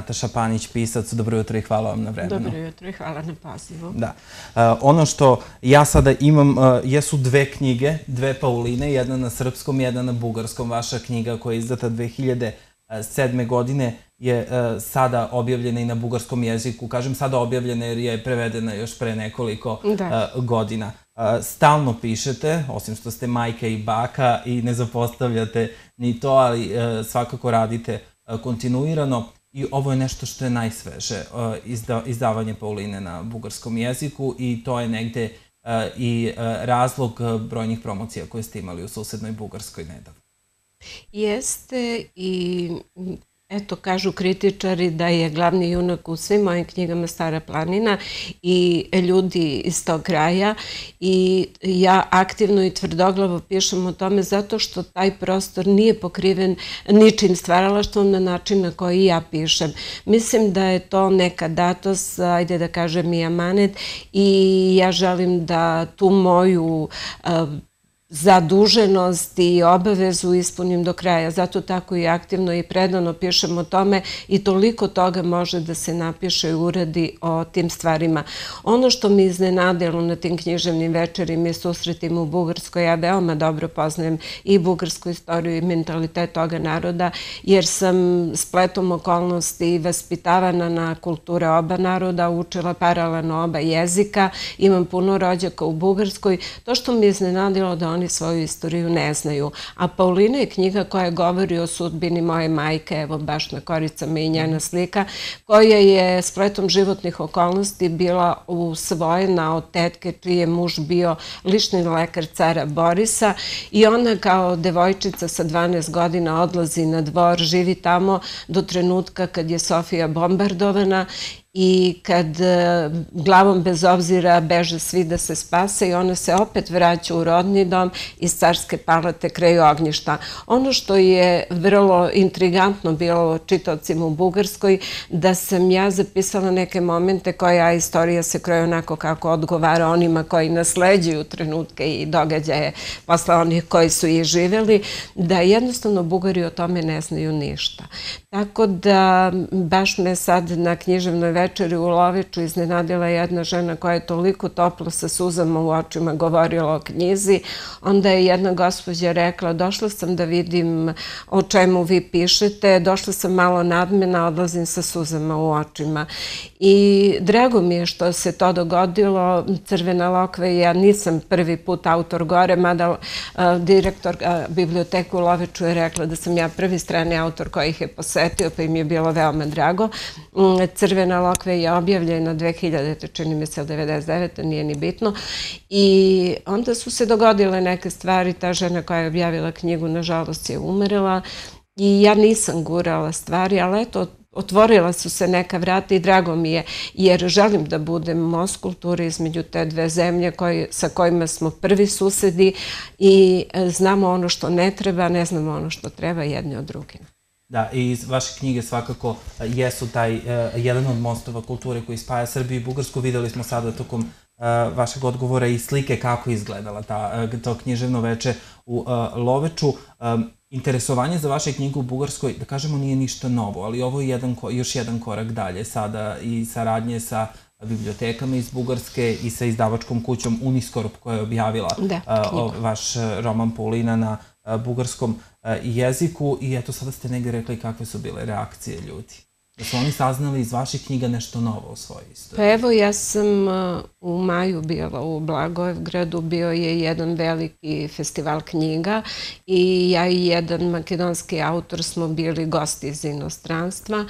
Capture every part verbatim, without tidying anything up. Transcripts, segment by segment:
Nataša Panić, pisac. Dobro jutro i hvala vam na vremenu. Dobro jutro i hvala na pozivu. Da. Ono što ja sada imam jesu dve knjige, dve Pauline, jedna na srpskom, jedna na bugarskom. Vaša knjiga koja je izdata dve hiljade sedme. godine je sada objavljena i na bugarskom jeziku. Kažem sada objavljena jer je prevedena još pre nekoliko godina. Stalno pišete, osim što ste majka i baka i ne zapostavljate ni to, ali svakako radite kontinuirano. I ovo je nešto što je najsveže, izdavanje Pauline na bugarskom jeziku, i to je negde i razlog brojnih promocija koje ste imali u susednoj Bugarskoj nedavno. Jeste, i eto, kažu kritičari da je glavni junak u svim mojim knjigama Stara planina i ljudi iz tog kraja, i ja aktivno i tvrdoglavo pišem o tome zato što taj prostor nije pokriven ničim stvaralaštvom na način na koji ja pišem. Mislim da je to neka datost, ajde da kažem i amanet, i ja želim da tu moju zaduženost i obavezu ispunim do kraja. Zato tako i aktivno i predano pišem o tome, i toliko toga može da se napiše i uradi o tim stvarima. Ono što mi iznenadilo na tim književnim večerima i susretima u Bugarskoj, ja veoma dobro poznajem i bugarsku istoriju i mentalitet toga naroda, jer sam spletom okolnosti vaspitavana na kulture oba naroda, učila paralelno oba jezika, imam puno rođaka u Bugarskoj. To što mi je iznenadilo da oni svoju istoriju ne znaju. A Paulina je knjiga koja govori o sudbini moje majke, evo baš na koricama i njena slika, koja je spletom životnih okolnosti bila usvojena od tetke čiji je muž bio lični lekar cara Borisa, i ona kao devojčica sa dvanaest godina odlazi na dvor, živi tamo do trenutka kad je Sofija bombardovana, i kad glavom bez obzira beže svi da se spase, i ona se opet vraća u rodni dom iz carske palate kraj ognjišta. Ono što je vrlo intrigantno bilo čitaocima u Bugarskoj, da sam ja zapisala neke momente koja istorija se kroji onako kako odgovara onima koji nasleđuju trenutke i događaje posle onih koji su ih živeli, da jednostavno Bugari o tome ne znaju ništa. Tako da baš me sad na književnoj večeri u Loveču iznenadila jedna žena koja je toliko toplo sa suzama u očima govorila o knjizi. Onda je jedna gospođa rekla: došla sam da vidim o čemu vi pišete, došla sam malo nadmena, odlazim sa suzama u očima. I drago mi je što se to dogodilo. Crvena lokve, ja nisam prvi put autor gore, mada direktor biblioteke u Loveču je rekla da sam ja prvi strani autor koji ih je posetio, pa im je bilo veoma drago. Crvena lokve je objavljena dve hiljadite. čini mi se, devedeset devete. nije ni bitno. I onda su se dogodile neke stvari. Ta žena koja je objavila knjigu, nažalost, je umirala, i ja nisam gurala stvari, ali eto, otvorila su se neka vrata i drago mi je, jer želim da budem most kulture između te dve zemlje sa kojima smo prvi susedi i znamo ono što ne treba, ne znamo ono što treba jedni od drugima. Da, i vaše knjige svakako jesu taj jedan od mostova kulture koji spaja Srbiju i Bugarsku. Videli smo sada tokom vašeg odgovora i slike kako je izgledala to književno veče u Loveču. Interesovanje za vaše knjige u Bugarskoj, da kažemo, nije ništa novo, ali ovo je još jedan korak dalje sada, i saradnje sa bibliotekama iz Bugarske i sa izdavačkom kućom Uniskorp, koja je objavila vaš roman Paulina na bugarskom jeziku. I eto, sada ste negdje rekli kakve su bile reakcije ljudi. Da su oni saznali iz vaših knjiga nešto novo o svojoj istoriji. Pa evo, ja sam u maju bila u Blagoevgradu, bio je jedan veliki festival knjiga, i ja i jedan makedonski autor smo bili gosti iz inostranstva,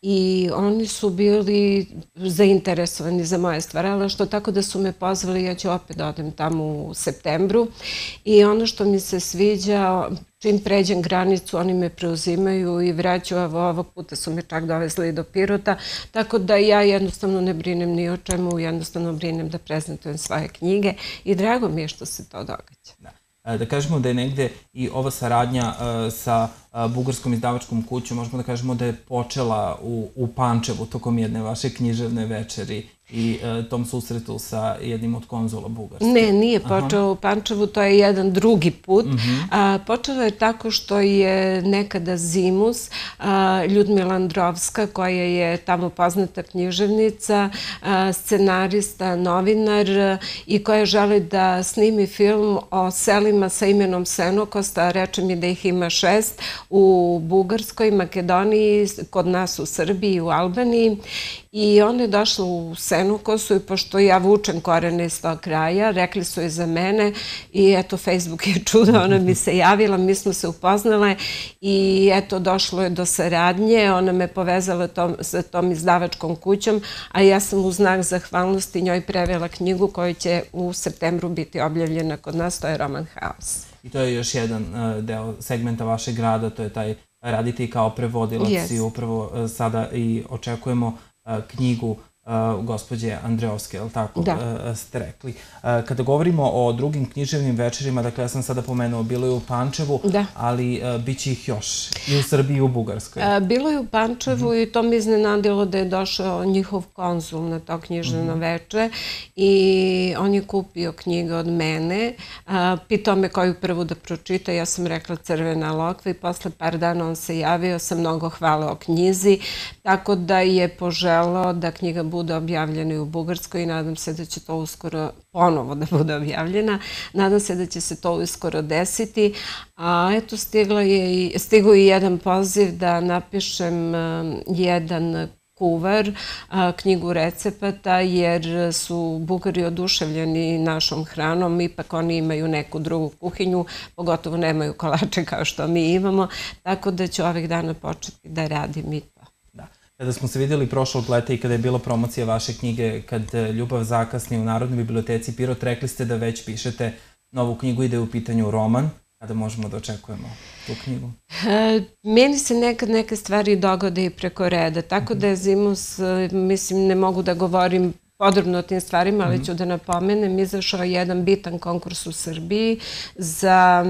i oni su bili zainteresovani za moje stvaralaštvo, tako da su me pozvali. Ja ću opet da odem tamo u septembru, i ono što mi se sviđa, čim pređem granicu, oni me preuzimaju i vraćaju. Ovog puta su me čak dovezli do Pirota, tako da ja jednostavno ne brinem ni o čemu, jednostavno brinem da prezentujem svoje knjige, i drago mi je što se to događa. Da kažemo da je negde i ova saradnja sa bugarskom izdavačkom kućom, možemo da kažemo da je počela u, u Pančevu tokom jedne vaše književne večeri i e, tom susretu sa jednim od konzula Bugarske. Ne, nije počeo u Pančevu, to je jedan drugi put. Mm-hmm. a, počelo je tako što je nekada Zimus, a, Ljudmila Androvska, koja je tamo poznata književnica, a, scenarista, novinar i koja želi da snimi film o selima sa imenom Senokosta, reče mi da ih ima šest, u Bugarskoj, Makedoniji, kod nas u Srbiji, u Albaniji. I ona je došla u Senokosu i pošto ja vučem korene iz tog kraja, rekli su je za mene i eto, Facebook je čudo, ona mi se javila, mi smo se upoznale i eto, došlo je do saradnje, ona me povezala tom, sa tom izdavačkom kućom, a ja sam u znak zahvalnosti njoj prevela knjigu koja će u septembru biti objavljena kod nas, to je roman Haos. I to je još jedan uh, deo segmenta vašeg rada, to je taj radite i kao prevodilac yes. i upravo uh, sada i očekujemo knjigu uh, gospođe Andreovske, je li tako da. uh, ste rekli. Uh, kada govorimo o drugim književnim večerima, dakle ja sam sada pomenuo, bilo je u Pančevu, da. ali uh, bit će ih još i u Srbiji i u Bugarskoj. Uh, bilo je u Pančevu mm-hmm. i to mi iznenadilo da je došao njihov konzul na to književno mm-hmm. veče i on je kupio knjige od mene, uh, pitao me koju prvu da pročita, ja sam rekla Crvena lokva i posle par dana on se javio sa mnogo hvale o knjizi, tako da je poželao da knjiga bude objavljena i u Bugarskoj i nadam se da će to uskoro ponovo da bude objavljena. Nadam se da će se to uskoro desiti. A eto, stigla je i, stigo i jedan poziv da napišem um, jedan kuvar, a, knjigu recepata, jer su Bugari oduševljeni našom hranom, ipak oni imaju neku drugu kuhinju, pogotovo nemaju kolače kao što mi imamo, tako da ću ovih dana početi da radim i to. Kada smo se vidjeli prošlog leta i kada je bila promocija vaše knjige Kad ljubav zakasni u Narodnoj biblioteci Pirot, rekli ste da već pišete novu knjigu i da je u pitanju roman. Kada možemo da očekujemo tu knjigu? E, meni se nekad neke stvari dogode i preko reda, tako da je Zimus, mislim, ne mogu da govorim podrobno o tim stvarima, ali ću da napomenem, izašao je jedan bitan konkurs u Srbiji za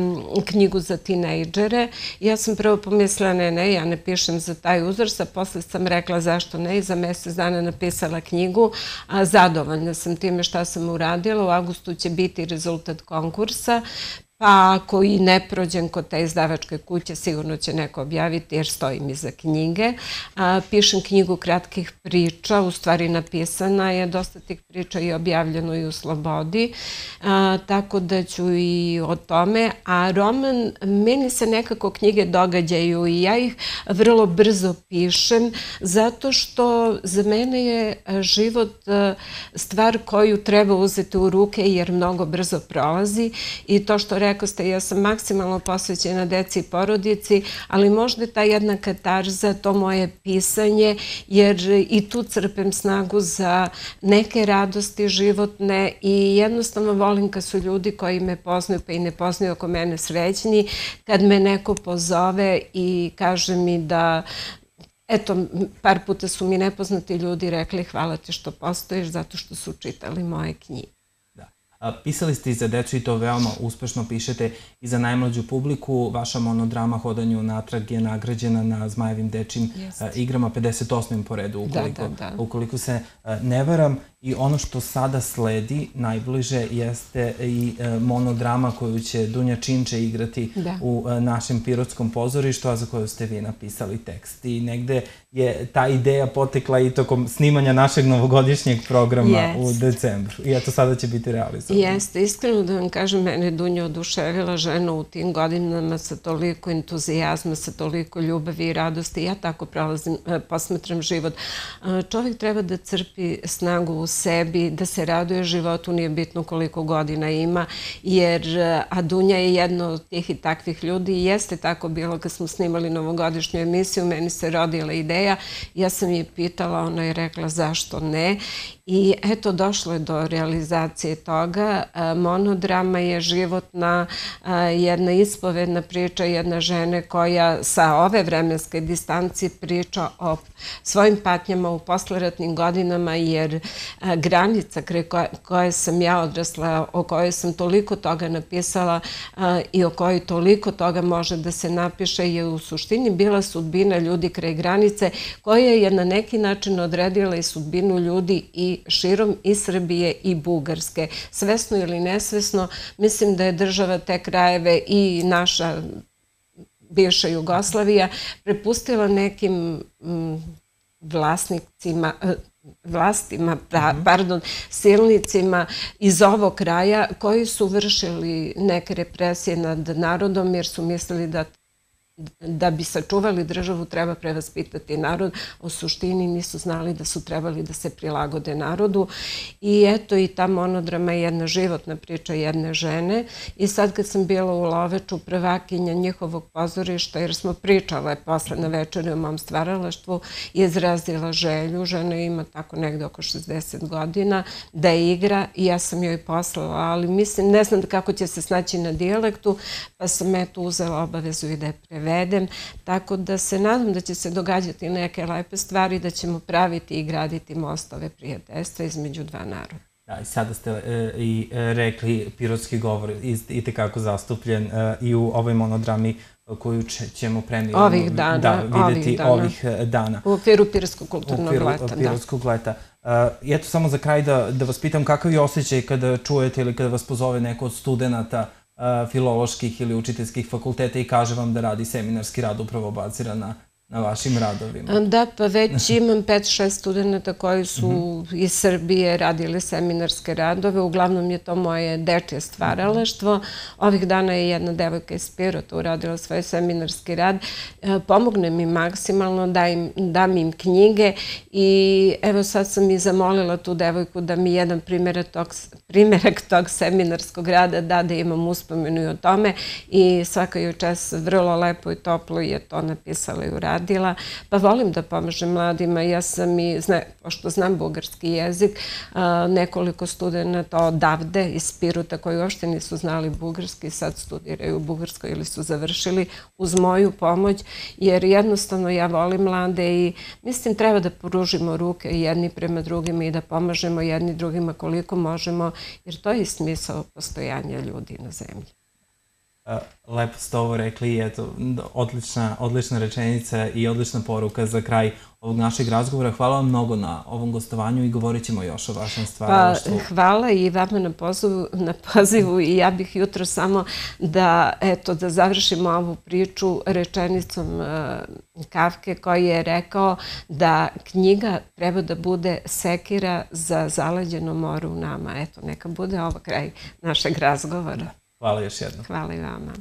knjigu za tinejdžere. Ja sam prvo pomislila, ne, ne, ja ne pišem za taj uzrast, a posle sam rekla zašto ne i za mjesec dana napisala knjigu. A zadovoljna sam time šta sam uradila. U avgustu će biti rezultat konkursa. Pa ako i ne prođem kod te izdavačke kuće, sigurno će neko objaviti jer stojim iza knjige. A, pišem knjigu kratkih priča, u stvari napisana je, dosta tih priča i objavljeno i u Slobodi, a, tako da ću i o tome. A roman, meni se nekako knjige događaju i ja ih vrlo brzo pišem, zato što za mene je život stvar koju treba uzeti u ruke jer mnogo brzo prolazi i to što rekao ste, ja sam maksimalno posvećena deci i porodici, ali možda je ta jedna katarza, to moje pisanje, jer i tu crpem snagu za neke radosti životne i jednostavno volim kad su ljudi koji me poznaju pa i ne poznaju oko mene srećni, kad me neko pozove i kaže mi da eto, par puta su mi nepoznati ljudi rekli hvala ti što postojiš zato što su čitali moje knjige. Pisali ste i za decu i to veoma uspešno pišete i za najmlađu publiku. Vaša monodrama Hodanju natrag je nagrađena na Zmajevim dečijim igrama pedeset osmim po redu, ukoliko se ne varam. I ono što sada sledi najbliže jeste i monodrama koju će Dunja Činče igrati u našem Pirotskom pozorištu, a za koju ste vi napisali tekst. I negde je ta ideja potekla i tokom snimanja našeg novogodišnjeg programa u decembru. I eto, sada će biti realizovano. Jeste, iskreno da vam kažem, mene Dunja oduševila, žena u tim godinama sa toliko entuzijazma, sa toliko ljubavi i radosti. Ja tako prolazim, posmatram život. Čovjek treba da crpi snagu u sebi, da se raduje životu, nije bitno koliko godina ima, jer a Dunja je jedna od tih i takvih ljudi i jeste tako bilo kad smo snimali novogodišnju emisiju, meni se rodila ideja, ja sam je pitala, ona je rekla zašto ne i eto došlo je do realizacije toga. Monodrama je životna, jedna ispovedna priča jedne žene koja sa ove vremenske distanci priča o svojim patnjama u posleratnim godinama jer granica koje sam ja odrasla, o kojoj sam toliko toga napisala i o kojoj toliko toga može da se napiše, je u suštini bila sudbina ljudi kraj granice koja je na neki način odredila i sudbinu ljudi i širom i Srbije i Bugarske. Svesno ili nesvesno, mislim da je država te krajeve i naša bivša Jugoslavija prepustila nekim vlasnicima, vlastima, pardon, silnicima iz ovog kraja koji su vršili neke represije nad narodom jer su mislili da da bi sačuvali državu treba prevaspitati narod, u suštini nisu znali da su trebali da se prilagode narodu i eto i ta monodrama je jedna životna priča jedne žene i sad kad sam bila u Loveču prvakinja njihovog pozorišta jer smo pričale posle na večeri o mom stvaralaštvu i izrazila želju, žena ima tako negde oko šezdeset godina, da igra i ja sam joj poslala, ali mislim, ne znam kako će se snaći na dijalektu, pa sam eto uzela obavezu i da je prevedem. Vedem, tako da se nadam da će se događati neke lepe stvari, da ćemo praviti i graditi mostove prijateljstva između dva naroda. Da, i sada ste i rekli pirotski govor i tekako zastupljen i u ovoj monodrami koju ćemo premijerno videti ovih dana. U okviru Pirotskog kulturnog leta, da. Pirotskog leta. I eto samo za kraj da vas pitam kakav je osjećaj kada čujete ili kada vas pozove neko od studenta filoloških ili učiteljskih fakulteta i kaže vam da radi seminarski rad upravo baziran na vašim radovima. Da, pa već imam pet šest studenta koji su iz Srbije radili seminarske radove. Uglavnom je to moje dečje stvaralaštvo. Ovih dana je jedna devojka iz Pirota uradila svoj seminarski rad. Pomogne mi maksimalno, dam im knjige i evo sad sam i zamolila tu devojku da mi jedan primjerak tog seminarskog rada da da imam uspomenu i o tome i svaka joj čas vrlo lepo i toplo je to napisala i uradila. Pa volim da pomažem mladima. Ja sam i, pošto znam bugarski jezik, nekoliko studenta odavde iz Pirota koji uopšte nisu znali bugarski, sad studiraju u Bugarskoj ili su završili uz moju pomoć, jer jednostavno ja volim mlade i mislim treba da pružimo ruke jedni prema drugima i da pomažemo jedni drugima koliko možemo, jer to je smisao postojanja ljudi na zemlji. Lepo ste ovo rekli i eto, odlična rečenica i odlična poruka za kraj ovog našeg razgovora. Hvala vam mnogo na ovom gostovanju i govorit ćemo još o vašem stvaralaštvu. Hvala i vama na pozivu i ja bih jutro samo da, eto, da završimo ovu priču rečenicom Kafke koji je rekao da knjiga treba da bude sekira za zaleđeno more u nama. Eto, neka bude ovo kraj našeg razgovora. Hvala još jednom. Hvala i vama.